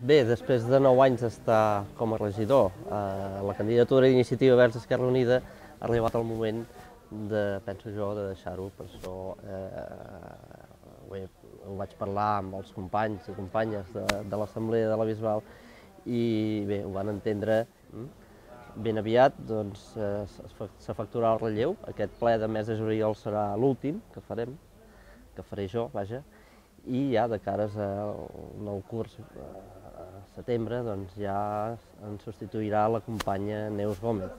Bé, després de 9 anys d'estar com a regidor a la candidatura d'Iniciativa Verds Esquerra Unida, ha arribat el moment penso jo, de deixar-ho. Per això ho vaig parlar amb els companys i companyes de l'Assemblea de la Bisbal i bé, ho van entendre. Ben aviat doncs, s'efectuarà el relleu. Aquest ple de mes de juliol serà l'últim que farem, que faré jo, vaja, i ja de cares al nou curs, a setembre, doncs ja ens substituirà la companya Neus Gómez.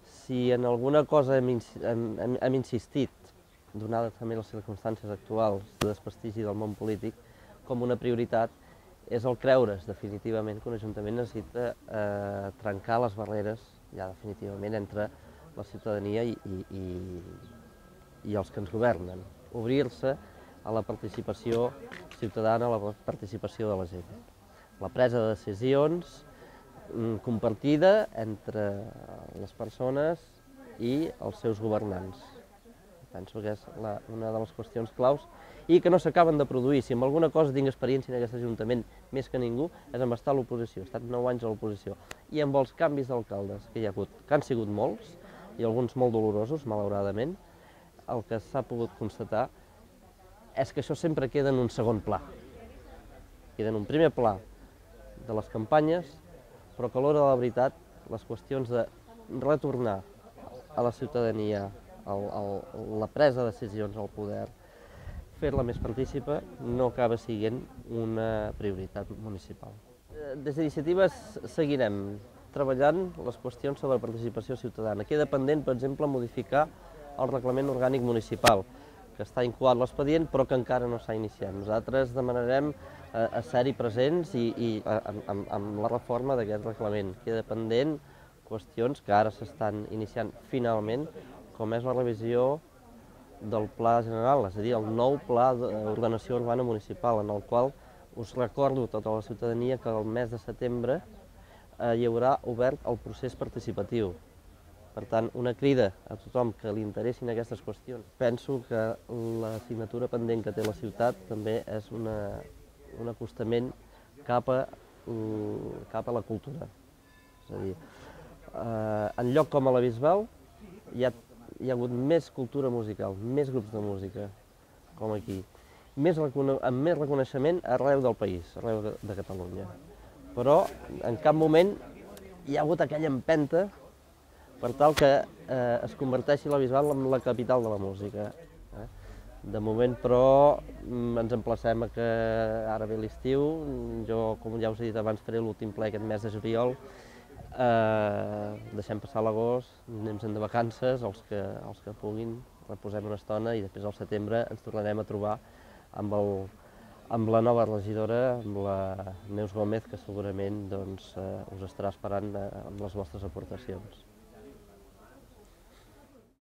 Si en alguna cosa hem insistit, donades també les circumstàncies actuals de desprestigi del món polític, com una prioritat, és el creure's definitivament que un ajuntament necessita trencar les barreres, ja definitivament, entre la ciutadania i els que ens governen. Obrir-se a la participació ciutadana, a la participació de la gent. La presa de decisions compartida entre les persones i els seus governants. Penso que és una de les qüestions claus i que no s'acaben de produir. Si amb alguna cosa tinc experiència en aquest Ajuntament més que ningú, és amb estar a l'oposició. He estat 9 anys a l'oposició. I amb els canvis d'alcaldes que hi ha hagut, que han sigut molts, i alguns molt dolorosos, malauradament, el que s'ha pogut constatar és que això sempre queda en un segon pla. Queda en un primer pla de les campanyes, però que a l'hora de la veritat, les qüestions de retornar a la ciutadania la presa de decisions al poder, fer-la més partícipa, no acaba sent una prioritat municipal. Des d'Iniciativa seguirem treballant les qüestions sobre participació ciutadana. Queda pendent, per exemple, modificar el reglament orgànic municipal, que està incoat l'expedient però que encara no s'ha iniciat. Nosaltres demanarem ser-hi presents i amb la reforma d'aquest reglament. Queda pendent qüestions que ara s'estan iniciant finalment, com és la revisió del Pla General, és a dir, el nou Pla d'Ordenació Urbana Municipal, en el qual us recordo a tota la ciutadania que el mes de setembre hi haurà obert el procés participatiu. Per tant, una crida a tothom que li interessin aquestes qüestions. Penso que la signatura pendent que té la ciutat també és un acostament cap a la cultura. És a dir, en lloc com a la Bisbal hi ha hagut més cultura musical, més grups de música, com aquí, amb més reconeixement arreu del país, arreu de Catalunya. Però en cap moment hi ha hagut aquella empenta per tal que es converteixi la Bisbal en la capital de la música. De moment, però, ens emplacem a que ara ve l'estiu. Jo, com ja us he dit abans, faré l'últim ple aquest mes de juliol. Deixem passar l'agost, anem de vacances, els que puguin, reposem una estona i després al setembre ens tornarem a trobar amb la nova regidora, amb la Neus Gómez, que segurament us estarà esperant amb les vostres aportacions.